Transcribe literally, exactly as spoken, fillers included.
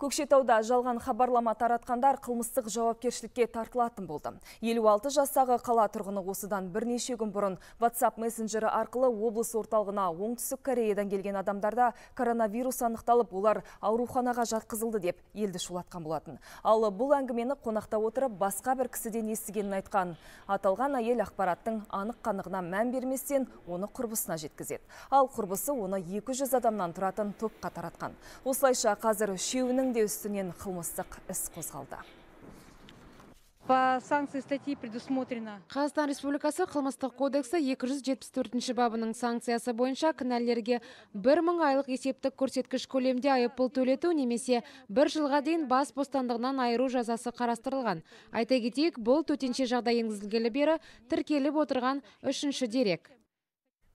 Көкшетауда жалған хабарлама таратқандар қылмыстық жауапкершілікке тартылатын болды. елу алты жастағы қала тұрғыны осыдан бірнеше күн бұрын WhatsApp мессенджері арқылы облыс орталығына оңтүстік Кореядан келген адамдарда коронавирус анықталып, олар ауруханаға жатқызылды деп елді шулатқан болатын. Ал бұл әңгімені қонақта отырып басқа бір кісіден естігенін айтқан. Аталған әйел ақпараттың анық-қанығына мән берместен оны құрбысына жеткізеді. Ал құрбысы оны екі жүз адамнан тұратын топқа таратқан. Осылайша қазір үшеуінің де үстінен қылмыстық іс қозғалды. По санкции статьи предусмотрено. Қазақстан Республикасы қылмыстық кодексі екі жүз жетпіс төртінші бабының санкциясы бойынша кінәлілерге бір мың айлық есептік көрсеткіш көлемде айыппұл төлету немесе бір жылға дейін бас бостандығынан айыру жазасы қарастырылған. Айта кетейік, бұл төтенше жағдай енгізілгелі бері тіркеліп отырған үшінші дерек.